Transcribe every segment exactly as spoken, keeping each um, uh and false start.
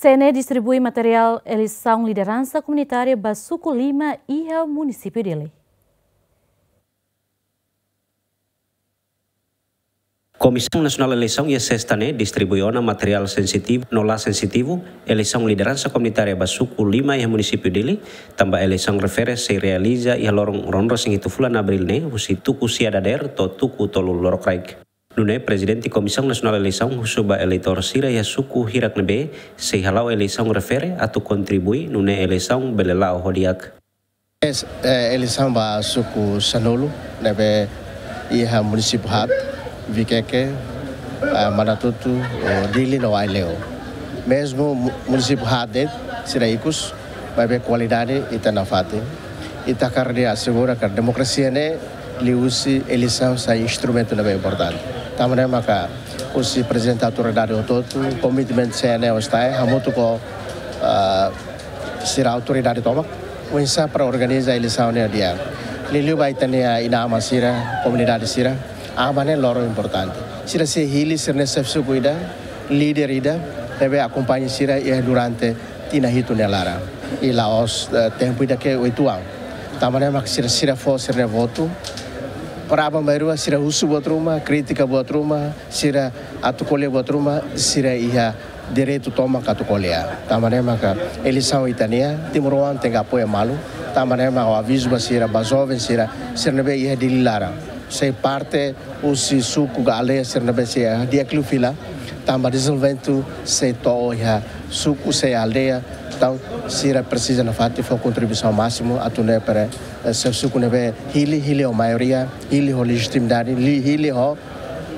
C N E distribui materiál eleisaun lideransa komunitária ba suku lima iha munisípiu Dili. Komisaun Nasionál Eleisaun iha sesta ne'e distribui ona materiál sensitivu no la sensitivu eleisaun lideransa komunitária ba suku lima iha munisípiu Dili, tanba eleisaun refere sei realiza iha loron ruanulu-resin-hitu fulan Abríl ne'e, husi tuku sia dadeer to'o tuku tolu lorokraik. Nune'e Prezidente Komisaun Nasionál Eleisaun husu ba eleitór sira iha suku hirak ne'ebé sei hala'o eleisaun refere atu kontribui nune'e eleisaun bele la'o ho di'ak. Es, eh, eleisaun ba suku sanulu ne'ebé iha munisípiu haat, Viqueque, eh, Manatuto, eh, Dili no Aileu. Mezmu mu-, munisípiu haat de'it, sira ikus, maibé kualidade ita nafatin. Ita hakarak asegura katak demokrasia ne'e liuhusi eleisaun sai instrumentu ne'ebé importante. Tanba ne'e maka husi prezidente autoridade hotu-hotu, komitmen C N E hostae, hamutuk ho, ah, sira autoridade tomak, oinsá para organiza eleisaun ne'e di'ak. Liuliu ba ita-nia inan-aman sira, komunidade sira, aman ne'e loron importante. Sira sei hili sira-nia xefe suku ida, líder ida, ne'ebé akompaña sira iha durante tinan hitu nia laran. I la'ós, eh, tempu ida ke oituan. Tanba ne'e mak sira, sira fó sira-nia votu. Para aban-bainrua sira husu buat ruma, kritika buat ruma, sira atu ko'alia buat ruma, sira iha direitu tomak atu ko'alia. Tanba ne'e maka eleisaun ita-nia, timoroan tenke apoia malu. Tanba ne'e mak ha'u avizu ba sira, ba joven sira, sira ne'ebé iha Dili laran. Sei parte husi suku ka aldeia sira ne'ebé sei di'ak liu fila, tanba dezenvolvimentu sei to'o iha suku, sei aldeia. Entaun sira presiza nafatin fó kontribuisaun másimu atu nune'e para, eh, xefe suku ne'ebé hili, hili ho maioria, hili ho lejitimidade, li-, hili ho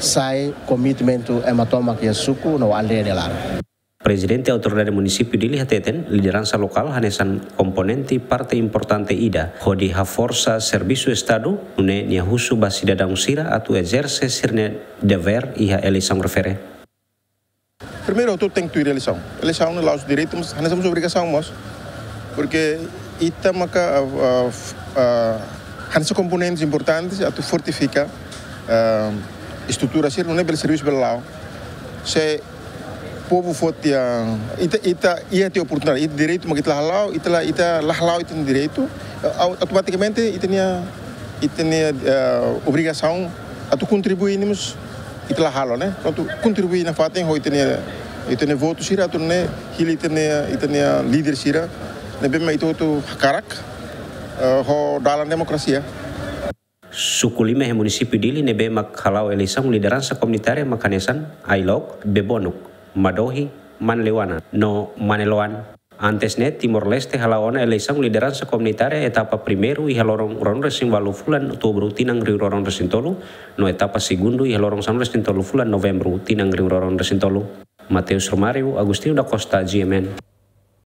sai komitmentu ema tomak iha suku no aldeia nia laran. Prezidente Autoridade Munisípiu Dili hateten, lideransa lokál hanesan komponente parte importante ida hodi haforsa servisu Estadu, nune'e nia husu ba sidadaun sira atu ezerse sira-nia devér iha eleisaun refere. Primeiru, hotu tenke tuir eleisaun. Eleisaun ne'e la'ós direitu, mas hanesan mós obrigasaun mós. Porke ita maka, ah, ah, f-, ah, hanesan komponentes importantes atu fortifika, ah, estrutura sira, nune'e bele servisu bele la'o. Se povu foti, ah, ita, ita iha tiha oportunidade, ita direitu mak ita la hala'o, ita la, ita la hala'o ita-nia direitu, au-, automatikamente ita-nia, ita-nia, eh, obrigasaun atu kontribui ne'e mós ita la halo, ne'e? Prontu, kontribui nafatin ho ita-nia, ita-nia votu sira atu nune'e hili ita-nia, ita-nia líder sira ne'ebé mak ita hotu hakarak, eh, ho dalan demokrasia. Suku lima iha munisípiu Dili ne'ebé mak hala'o eleisaun lideransa komunitária mak hanesan Ailok, Bebonuk, Madohi, Manleuana no Maneloan. Antes ne'e, Timor-Leste hala'o ona eleisaun lideransa komunitária etapa primeiru iha loron ruanulu-resin-ualu fulan Outubru tinan rihun rua ruanulu-resin-tolu, no etapa segundu iha loron sanulu-resin-tolu fulan Novembru tinan rihun rua ruanulu-resin-tolu. Mateus Romário, Agostinho da Costa, G M N.